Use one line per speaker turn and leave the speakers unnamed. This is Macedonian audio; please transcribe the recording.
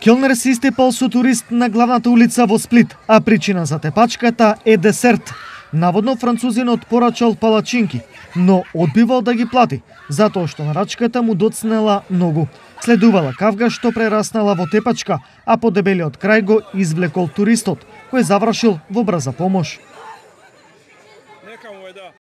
Келнер се истепал со турист на главната улица во Сплит, а причина за тепачката е десерт. Наводно французинот порачал палачинки, но одбивал да ги плати, затоа што нарачката му доцнела многу. Следувала кавга што прераснала во тепачка, а по дебелиот крај го извлекол туристот, кој завршил во брза помош.